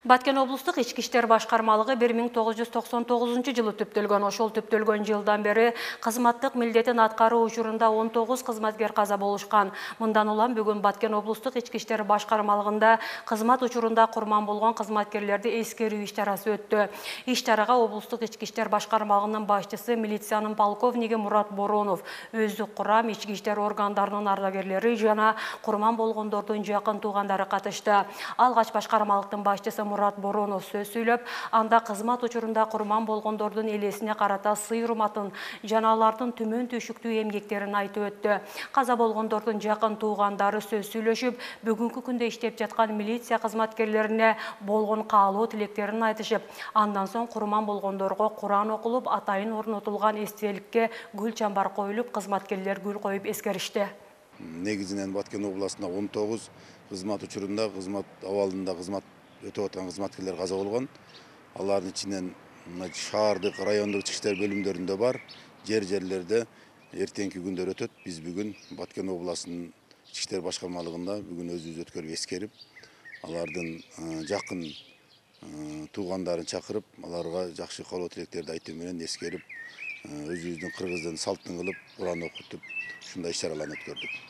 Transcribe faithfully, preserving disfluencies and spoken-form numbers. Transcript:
Баткен облустук ички иштер башкармалыгы бир миң тогуз жүз токсон тогузунчу жылы түптөлгөн. Ошол түптөлгөн жылдан бери кызматтык милдетин аткаруу учурунда он тогуз кызматкер каза болушкан. Мындан улам бүгүн Баткен облустук ички иштер башкармалыгында кызмат учурунда курман болгон кызматкерлерди эскерүү иш чарасы өттү. Иш чарага облустук ички иштер башкармалыгынын башчысы, милициянын полковниги Мурат Боронов, өздүк курам, ички иштер органдарынын ардагерлери жана курман болгондордун жакын туугандары катышты. Алгач башкармалыктын башчысы Мурат Боронов сөз сүйлөп, анда кызмат учурунда курман болгондордун элесине карата сый-урматын жана алардын түмөн түйшүктүү эмгектерин айтып өттү. Каза болгондордун жакын туугандары сөз сүйлөшүп, бүгүнкү күндө иштеп жаткан милиция кызматкерлерине болгон каалоо тилектерин айтышып, андан соң курман болгондорго Куран окулуп, атайын орнотулган эстеликке гүл чамбар коюлуп, кызматкерлер гүл коюп эскеришти. Негизинен Баткен областында он тогуз кызмат учурунда, кызмат абалында кызмат өтөп аткан кызматкерлер каза болгон. Алардын ичинен шаардык, райондук ички иштер бөлүмдөрүндө бар, жер-жерлерде эртеңки күндөр өтөт. Биз бүгүн Баткен областынын ички иштер башкармалыгында бүгүн өзүбүз өткөрүп эскерип, алардын жакын туугандарын чакырып, аларга жакшы каалоо тилектерди айтуу менен эскерип, өзүбүздүн кыргыздын салтын кылып, Куран окутуп, ушундай иш чараларды өткөрдүк.